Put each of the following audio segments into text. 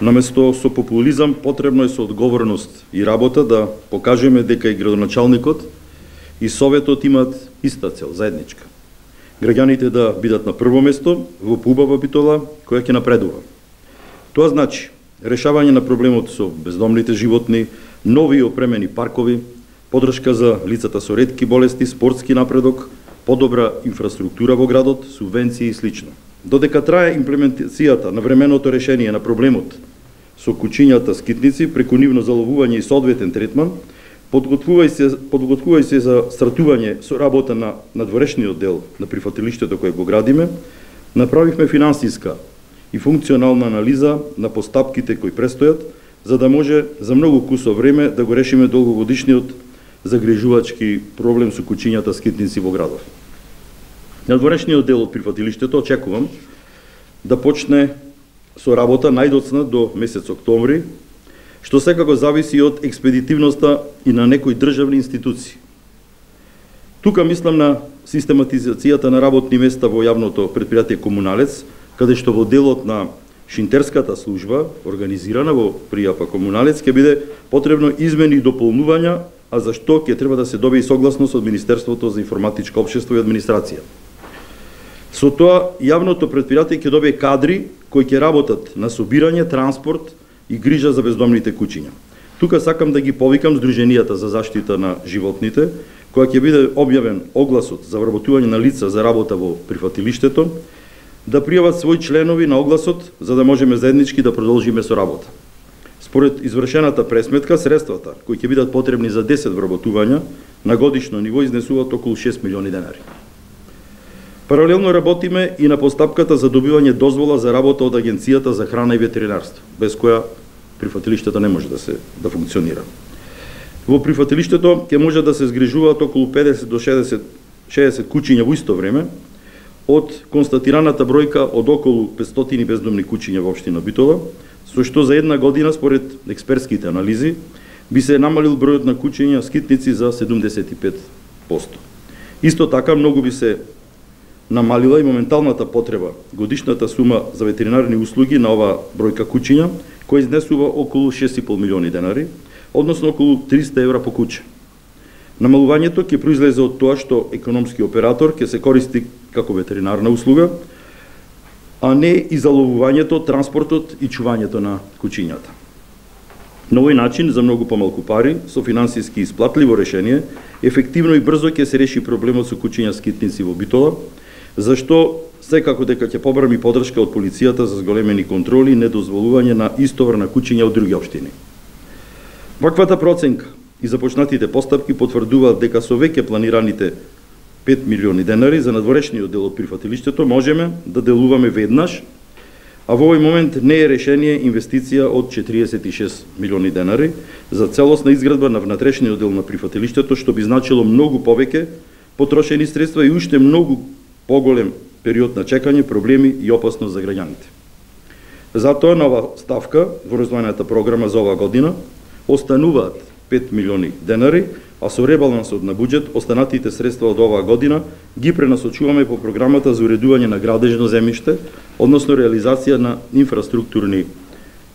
Наместо со популизам, потребно е со одговорност и работа да покажеме дека и градоначалникот и Советот имаат иста цел, заедничка. Граѓаните да бидат на прво место во поубава битола која ќе напредува. Тоа значи решавање на проблемот со бездомните животни, нови и опремени паркови, поддршка за лицата со ретки болести, спортски напредок, подобра инфраструктура во градот, субвенции и слично. Додека трае имплементацијата на временото решение на проблемот со кучињата скитници преку нивно заловување и соодветен третман, подготвувај се за стартување со работа на надворешниот дел на прифатилиштето кое го градиме, направивме финансиска и функционална анализа на постапките кои престојат, за да може за многу кусо време да го решиме долгогодишниот загрижувачки проблем со кучињата скитници во градов. Надворешниот дел од прифатилиштето очекувам да почне со работа најдоцна до месец октомври, што секако зависи од експедитивноста и на некои државни институции. Тука мислам на систематизацијата на работни места во јавното предпријатие Комуналец, каде што во делот на шинтерската служба, организирана во пријапа Комуналец, ќе биде потребно измени и дополнувања, а за што ќе треба да се добие согласност од Министерството за информатичко општество и администрација. Со тоа, јавното предпријатие ќе добие кадри кои ќе работат на собирање, транспорт и грижа за бездомните кучиња. Тука сакам да ги повикам Сдруженијата за заштита на животните, која ќе биде објавен огласот за вработување на лица за работа во прифатилиштето, да пријават своји членови на огласот, за да можеме заеднички да продолжиме со работа. Според извршената пресметка, средствата кои ќе бидат потребни за 10 вработувања на годишно ниво изнесуваат околу 6 милиони денари. Паралелно работиме и на постапката за добивање дозвола за работа од Агенцијата за храна и ветеринарство, без која прифатилиштето не може да функционира. Во прифатилиштето ќе може да се згрижуваат околу 50 до 60 кучиња во исто време, од констатираната бројка од околу 500 бездомни кучиња во општина Битола, со што за една година, според експертските анализи, би се намалил бројот на кучиња скитници за 75%. Исто така, многу би се намалила и моменталната потреба, годишната сума за ветеринарни услуги на ова бројка кучиња, која изнесува околу 6,5 милиони денари, односно околу 300 евра по куче. Намалувањето ќе произлезе од тоа што економски оператор ќе се користи како ветеринарна услуга, а не и заловувањето, транспортот и чувањето на кучињата. На овој начин, за многу помалку пари, со финансиски исплатливо решение, ефективно и брзо ќе се реши проблемот со кучиња скитници во Битола, зашто секако дека ќе побрами поддршка од полицијата за зголемени контроли и недозволување на истовар на кучиња од други општини. Ваквата проценка и започнатите постапки потврдуваат дека со веќе планираните 5 милиони денари за надворешниот дел од прифатилиштето можеме да делуваме веднаш, а во овој момент не е решение инвестиција од 46 милиони денари за целосна изградба на внатрешниот дел на прифатилиштето, што би значило многу повеќе потрошени средства и уште многу поголем период на чекање, проблеми и опасност за граѓаните. Затоа на ова ставка во развојната програма за оваа година остануваат 5 милиони денари, а со ребалансот на буџет останатите средства од оваа година ги пренасочуваме по програмата за уредување на градежно земјиште, односно реализација на инфраструктурни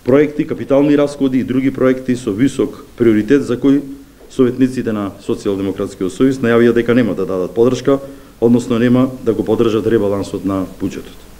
проекти, капитални расходи и други проекти со висок приоритет за кои советниците на Социјалдемократскиот сојуз најавија дека нема да дадат поддршка, односно нема да го поддржат ребалансот на буџетот.